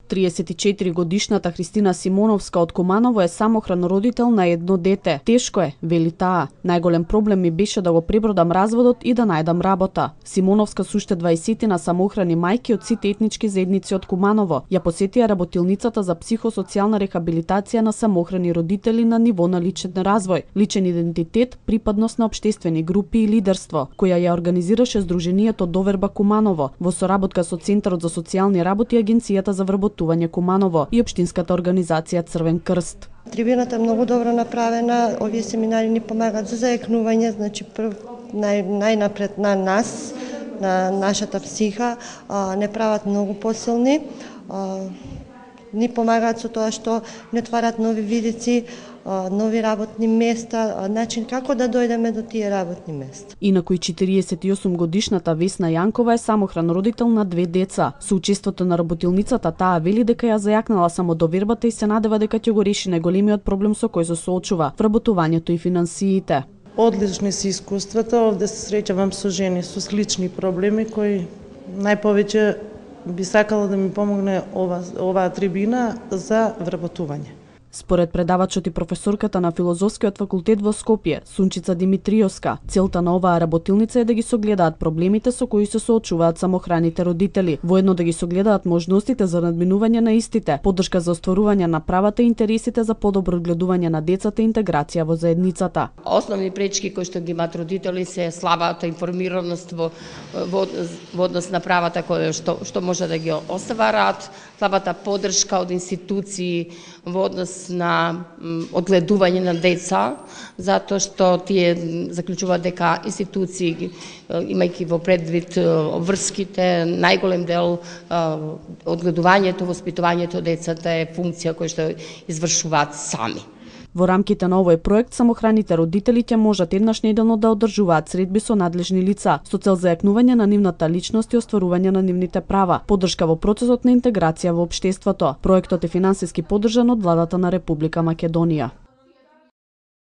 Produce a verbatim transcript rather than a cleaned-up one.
триесет и четири годишната Христина Симоновска од Куманово е самохран родител на едно дете. Тешко е, вели таа. Најголем проблем ми беше да го пребродам разводот и да најдам работа. Симоновска со уште дваесетина самохрани мајки од сите етнички заедници од Куманово ја посетија работилницата за психосоцијална рехабилитација на самохрани родители на ниво на личен развој, личен идентитет, припадност на општествени групи и лидерство, која ја организираше Сдруженијето Доверба Куманово во соработка со Центарот за социјални работи и Агенцијата за вработување Куманово и општинската организација Црвен крст. Трибината е многу добро направена, овие семинари ни помагаат за зајакнување, значи прв нај, најнапред на нас, на нашата психа, а, не прават многу посилни, а, ни помагаат со тоа што не отварат нови видици, нови работни места, начин како да дојдеме до тие работни места. Инаку и четириесет и осум годишната Весна Јанкова е самохран родител на две деца. Со учеството на работилницата таа вели дека ја зајакнала само довербата и се надева дека ќе го реши најголемиот проблем со кој се соочува – вработувањето и финансиите. Одлични се искуствата, овде се среќавам со жени со слични проблеми кои најповеќе би сакала да ми помогне ова оваа трибина за вработување. Според предавачот и професорката на Филозофскиот факултет во Скопје, Сунчица Димитриовска, целта на оваа работилница е да ги согледаат проблемите со кои се соочуваат самохраните родители, воедно да ги согледаат можностите за надминување на истите, поддршка за остварување на правата и интересите за подобро одгледување на децата и интеграција во заедницата. Основни пречки кои што ги имаат родители се слабата информираност во, во, во однос на правата кои што, што може да ги остварат, слабата поддршка од институции во однос на одгледување на деца, затоа што тие заклучуваат дека институции, имајќи во предвид врските, најголем дел одгледувањето, воспитувањето децата е функција која што извршуваат сами. Во рамките на овој проект, самохраните родители ќе можат еднаш неделно да одржуваат средби со надлежни лица, со цел зајакнување на нивната личност и остварување на нивните права, поддршка во процесот на интеграција во општеството. Проектот е финансиски поддржан од владата на Република Македонија.